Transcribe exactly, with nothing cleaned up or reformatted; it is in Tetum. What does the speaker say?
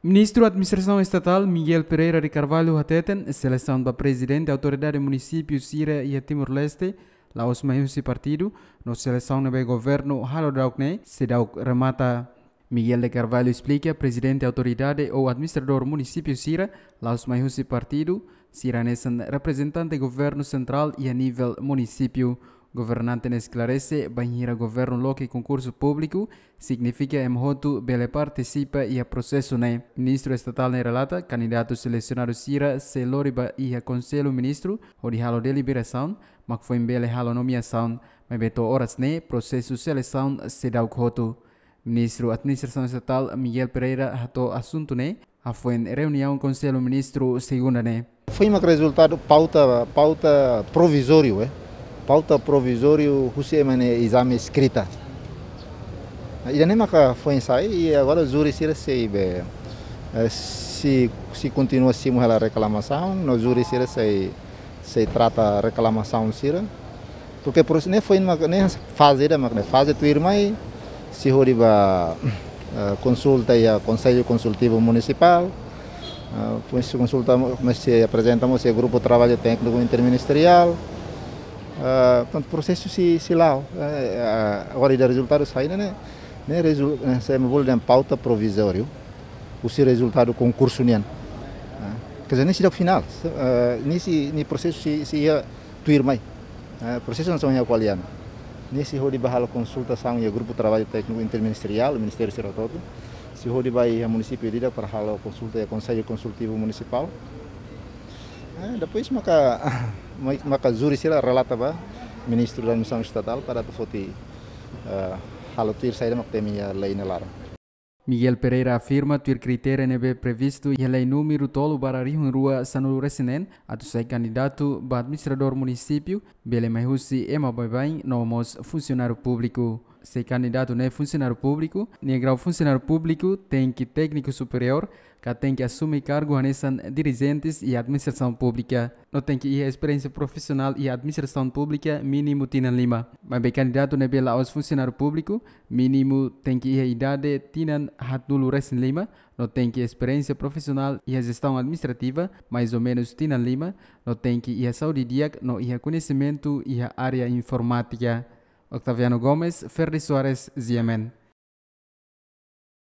Ministru Administrasaun Estatál Miguel Pereira de Carvalho hateten, selesaun ba prezidente autoridade munisípiu sira iha Timor-Leste la'ós mai husi partidu, no selesaun ne'ebé governu halo daudauk ne'e seidauk remata. Miguel de Carvalho esplika, prezidente autoridade ou administradór munisípiu sira la'ós mai husi partidu, sira hanesan reprezentante governu sentrál iha nivel munisípiu. Governante ne'e esklarese, bainhira governu loke konkursu públiku, signifika ema hotu bele partisipa iha prosesu ne'e. Ministru Estatál ne'e relata, kandidatu selesionadu sira sei lori ba iha Konsellu Ministru hodi halo deliberasaun, mak foin bele halo nomeasaun, maibé to'o oras ne'e prosesu selesaun seidauk hotu. Ministru Administrasaun Estatál Miguel Pereira hato'o asuntu ne'e hafoin reuniaun Konsellu Ministru segunda ne'e. Foin mak rezultadu pauta, pauta provizóriu, eh. Pauta provizóriu husi ema nia ezame eskrita. Ida-ne'e maka foin sai, i agora júri sira sei be, eh, sei, sei kontinua simu hela reklamasaun, no júri sira sei, sei trata reklamasaun sira. Porque por isso ne'e foin mak, ne'e faze ida mak ne'e, faze tuirmai, sei hodi ba, eh, konsulta iha Konsellu Konsultivu Munisipál, eh, depois sei konsulta, mós sei aprezenta mós iha Grupu Traballu Tékniku Interministeriál. Eh, portantu, prosesu sei, sei la'o, eh, eh, agora ida rezultadu sai ne'e, ne'e, ne'e rezu-, ne'e, sei bolu dehan pauta provizóriu husi rezultadu konkursu nian. Eh, quer dizer, ne'e seidauk finál, eh, ne'e sei, ne'e prosesu sei, sei iha tuirmai. Eh, prosesu hanesan ohin ha'u ko'alia ona. Ne'e sei hodi ba halo konsultasaun iha Grupu Traballu Tékniku Interministeriál, ministériu sira hotu-hotu. Sei hodi ba iha munisípiu ida-idak para halo konsulta iha Konsellu Konsultivu Munisipál. Eh, depois maka, ma-, maka júri sira relata ba Ministru Administrasaun Estatál para atu foti, eh, halo tuir saida mak temi iha lei nia laran. Miguel Pereira afirma, tuir kritéria ne'ebé previstu iha lei númeru tolu barra rihun rua sanulu-resin-neen, atu sai kandidatu ba administradór munisípiu, bele mai husi ema baibain no mós funsionáriu públiku. Sai kandidatu ne'e funsionáriu públiku, nia grau funsionáriu públiku tenke tékniku superiór, ka tenke asume kargu hanesan dirijentes iha administrasaun públika. No tenke iha esperiénsia profisionál iha administrasaun públika mínimu tinan lima. Maibé kandidatu ne'ebé la'ós funsionáriu públiku, mínimu tenke iha idade tinan haatnulu-resin-lima, no tenke esperiénsia profisionál iha jestaun administrativa, mais ou menus tinan lima, no tenke iha saúde di'ak, no iha koñesimentu iha área informátika. Octaviano Gomes, Ferdi Soares, G M N.